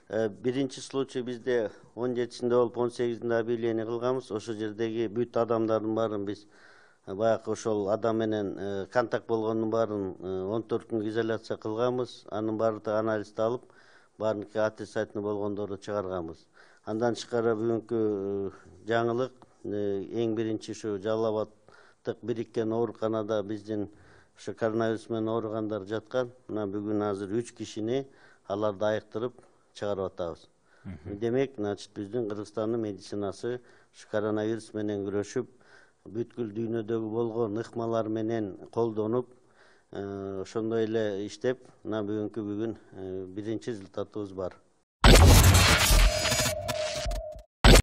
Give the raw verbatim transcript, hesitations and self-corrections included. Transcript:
Биринчи случай бизде он жетисинде болуп он сегизинде объявление кылганбыз. Ошол жердеги бүт адамдардын баарын биз баягы ошол адам менен контакт болгондун баарын он төрт күнгө изоляция кылганбыз. Анын баардыгы анализди алып, баарыныкы отрицательный болгондорду чыгарганбыз. Андан тышкары бүгүнкү жаңылык эң биринчи ушу Жалал Абадтык бириккен ооруканада биздин ушу коронавирус менен ооругандар жаткан. Мына бүгүн азыр үч кишини аларды айыктырып чыгарып атабыз. Демек, значит, биздин Кыргызстандын медицинасы ушу коронавирус менен күрөшүп, бүткүл дүйнөдөгү болгон ыкмалар менен колдонуп, ошондой эле иштеп, мына бүгүнкү бүгүн биринчи результатыбыз бар.